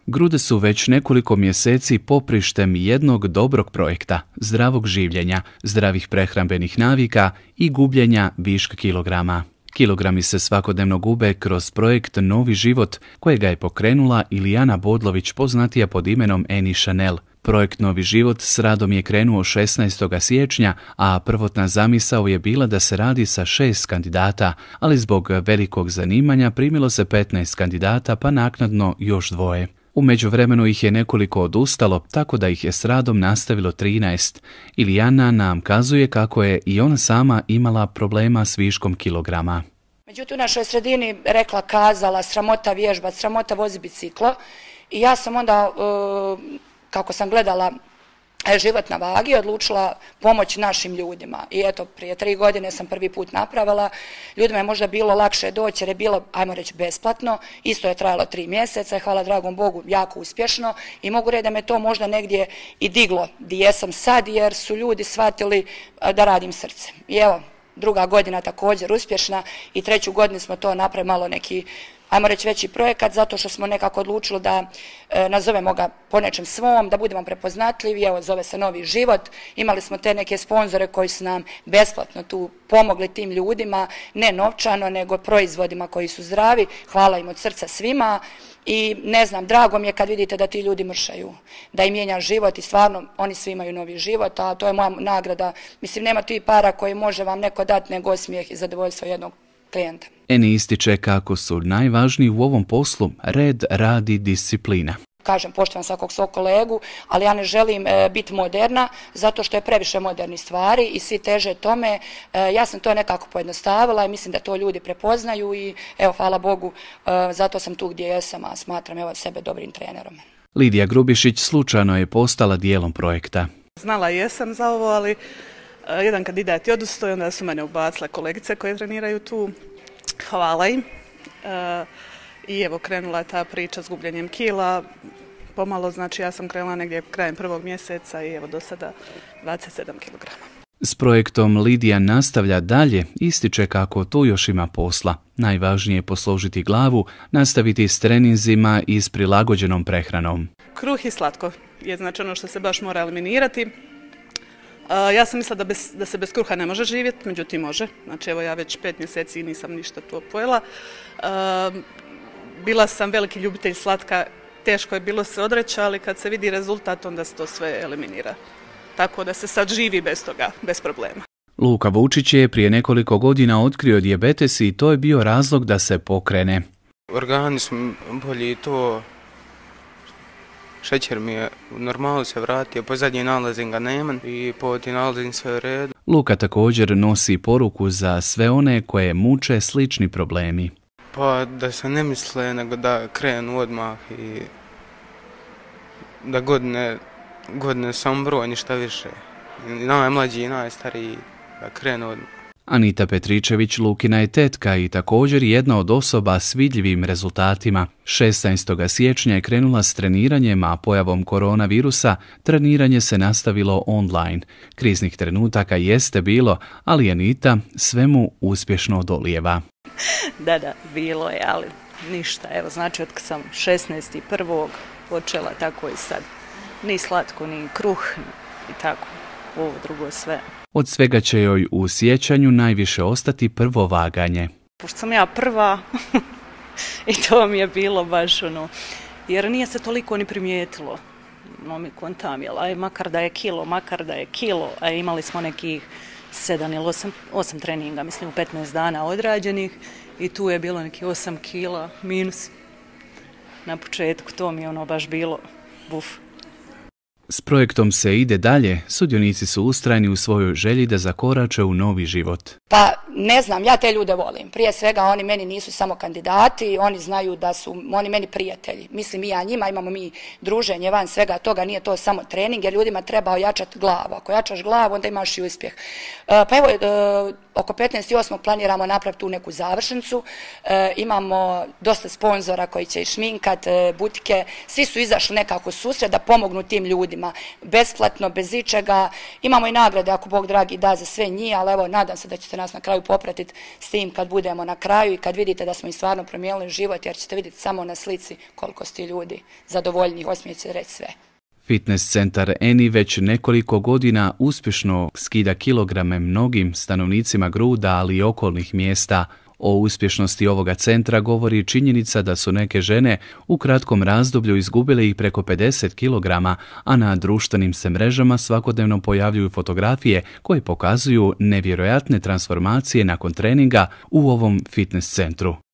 Grude su već nekoliko mjeseci poprištem jednog dobrog projekta, zdravog življenja, zdravih prehrambenih navika i gubljenja viška kilograma. Kilogrami se svakodnevno gube kroz projekt Novi život, kojega je pokrenula Ilijana Bodlović, poznatija pod imenom Eni Chanel. Projekt Novi život s radom je krenuo 16. siječnja, a prvotna zamisao je bila da se radi sa 6 kandidata, ali zbog velikog zanimanja primilo se 15 kandidata, pa naknadno još 2. U međuvremenu ih je nekoliko odustalo, tako da ih je s radom nastavilo 13. Ilijana nam kazuje kako je i ona sama imala problema s viškom kilograma. Međutim, u našoj sredini rekla, kazala, sramota vježbat, sramota vozi biciklo i ja sam onda, kako sam gledala život na vagi, odlučila pomoći našim ljudima. I eto, prije 3 godine sam prvi put napravila. Ljudima je možda bilo lakše doći jer je bilo, ajmo reći, besplatno. Isto je trajalo 3 mjeseca i hvala dragom Bogu jako uspješno. I mogu reći da me to možda negdje i diglo gdje jesam sad jer su ljudi shvatili da radim srce. I evo, 2. godina također uspješna i 3. godinu smo to napravili malo neki, ajmo reći, veći projekat, zato što smo nekako odlučili da nazovemo ga po nečem svom, da budemo prepoznatljivi. Evo, zove se Novi život. Imali smo te neke sponzore koji su nam besplatno tu pomogli tim ljudima, ne novčano, nego proizvodima koji su zdravi. Hvala im od srca svima. I ne znam, drago mi je kad vidite da ti ljudi mršaju, da im mijenja život i stvarno oni svi imaju novi život, a to je moja nagrada. Mislim, nema tu i para koje može vam neko dati nego osmijeh i zadovoljstvo jednog klijenta. Eni ističe kako su najvažniji u ovom poslu red, rad i disciplina. Kažem, poštujem svakog svog kolegu, ali ja ne želim biti moderna, zato što je previše modernih stvari i svi teže tome. Ja sam to nekako pojednostavila i mislim da to ljudi prepoznaju i evo, hvala Bogu, zato sam tu gdje jesam, a smatram evo sebe dobrim trenerom. Lidija Grubišić slučajno je postala dijelom projekta. Znala jesam za ovo, ali jedan kandidat je odustao i onda su mene ubacile kolegice koje treniraju tu. Hvala im. I evo, krenula je ta priča s gubljenjem kila. Pomalo, znači ja sam krenula negdje krajem 1. mjeseca i evo do sada 27 kg. S projektom Lidija nastavlja dalje, ističe kako tu još ima posla. Najvažnije je posložiti glavu, nastaviti s treninzima i s prilagođenom prehranom. Kruh i slatko je znači ono što se baš mora eliminirati. Ja sam mislila da se bez kruha ne može živjeti, međutim može. Znači evo, ja već 5 mjeseci nisam ništa to pojela. Bila sam veliki ljubitelj slatka, teško je bilo se odreći, ali kad se vidi rezultat onda se to sve eliminira. Tako da se sad živi bez toga, bez problema. Luka Vučić je prije nekoliko godina otkrio dijabetes i to je bio razlog da se pokrene. Organi su bolji i to, šećer mi je u normalu se vratio, po zadnjim nalazim ga nemam i po tim nalazim sve u redu. Luka također nosi poruku za sve one koje muče slični problemi. Pa da se ne misle, nego da krenu odmah i da godine sam broj, ništa više. I najmlađi i najstariji da krenu odmah. Anita Petričević Lukina je tetka i također jedna od osoba s vidljivim rezultatima. 16. siječnja je krenula s treniranjem, a pojavom koronavirusa treniranje se nastavilo online. Kriznih trenutaka jeste bilo, ali Anita svemu uspješno odolijeva. Da, bilo je, ali ništa. Evo, znači, od kad sam 16.1. počela, tako i sad. Ni slatko, ni kruh, i tako, ovo drugo sve. Od svega će joj u sjećanju najviše ostati prvo vaganje. Pošto sam ja prva, i to mi je bilo baš ono, jer nije se toliko ni primijetilo. No mi kontam, jel, makar da je kilo, a imali smo nekih 7 ili 8 treninga, mislim u 15 dana odrađenih i tu je bilo neki 8 kila minus. Na početku to mi je ono baš bilo buf. S projektom se ide dalje, sudionici su ustrajni u svojoj želji da zakorače u novi život. Pa ne znam, ja te ljude volim. Prije svega oni meni nisu samo kandidati, oni znaju da su oni meni prijatelji. Mislim i ja njima, imamo mi druženje van svega toga, nije to samo trening jer ljudima treba ojačati glavu. Ako jačaš glavu onda imaš i uspjeh. Pa evo, oko 15.8. planiramo napraviti tu neku završnicu. Imamo dosta sponzora koji će i šminkat, butike. Svi su izašli nekako susret da pomognu tim ljudima. Besplatno, bez ičega. Imamo i nagrade ako Bog dragi da za sve njih, ali evo nadam se da ćete ćete nas na kraju popratiti s tim kad budemo na kraju i kad vidite da smo im stvarno promijenili život, jer ćete vidjeti samo na slici koliko su ti ljudi zadovoljni, osmijeh će reći sve. Fitness centar Eni već nekoliko godina uspješno skida kilograme mnogim stanovnicima Gruda, ali i okolnih mjesta. O uspješnosti ovoga centra govori činjenica da su neke žene u kratkom razdoblju izgubile ih preko 50 kg, a na društvenim se mrežama svakodnevno pojavljuju fotografije koje pokazuju nevjerojatne transformacije nakon treninga u ovom fitness centru.